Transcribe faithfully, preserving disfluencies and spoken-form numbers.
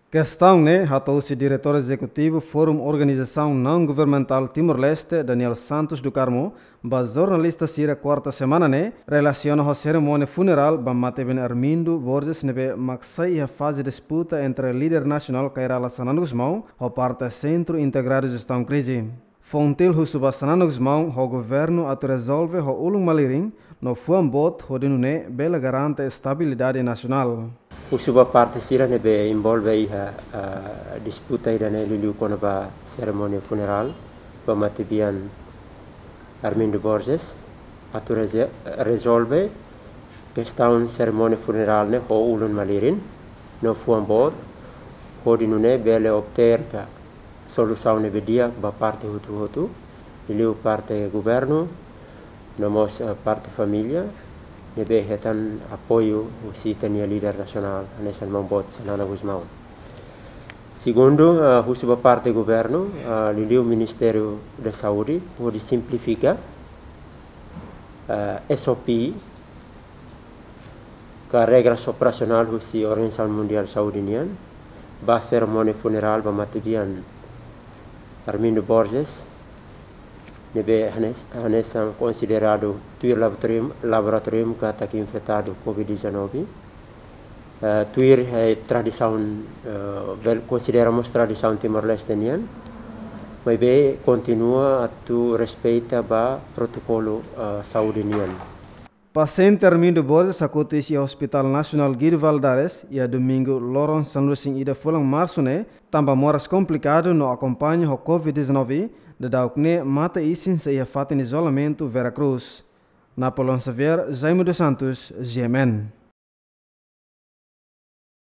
Kestaun ne'e hato'o husi Diretór Ezekutivu Forum Organizasaun Naun Governamentál Timor-Leste, Daniel Santos do Carmo, ba jornalista sira kuarta semana ne'e, relasiona ho serimónia funerál ba matebian Armindo Borges ne'ebé mak sai iha faze disputa entre líder nasionál Kay Rala Xanana Gusmão ho parte Sentru Integradu Jestaun Krize. Foun Til husu ba Xanana Gusmão ho governu atu rezolve ho ulun malirin no fuan boot hodi nune'e bele garante estabilidade nasionál. Husu ba parte sira ne'ebé envolve iha, ah, disputa ida-ne'e, liuliu kona-ba serimónia funerál ba matebian Armindo Borges, atu reze-, rezolve kestaun serimónia funerál ne'e ho ulun malirin no fuan boot, hodi nune'e bele obter ka solusaun ne'ebé di'ak ba parte hotu-hotu, liuliu parte governu, no mós, eh, parte família ne'ebé hetan apoiu husi ita-nia líder nasionál, hanesan maun boot Xanana Gusmão. Segundu, eh, husu ba parte governu, eh, liuliu Ministériu da Saúde, hodi simplifika, eh, S O P, ka regras operasionál husi Organizasaun Mundiál Saúde nian, ba serimónia funerál ba matebian Armindo Borges, ne'ebé hanes-, hanesan konsideradu tuir laboratóriu, laboratóriu katak infetadu covid dezanove. Eh, tuir, eh, tradisaun, eh, bele konsidera mós tradisaun Timor-Leste nian, maibé kontinua atu respeita ba protokolu, eh, saúde nian. Pasiente Armindo Borges hakotu iis iha Hospital Nasionál Guido Valadares iha domingu loron sanulu-resin-ida fulan Marsu ne'e, tanba moras komplikadu no akompaña ho covid dezanove, daudauk ne'e mate isin sei iha fatin izolamentu Vera Cruz. Napoleão Xavier, Jaime dos Santos, G M N.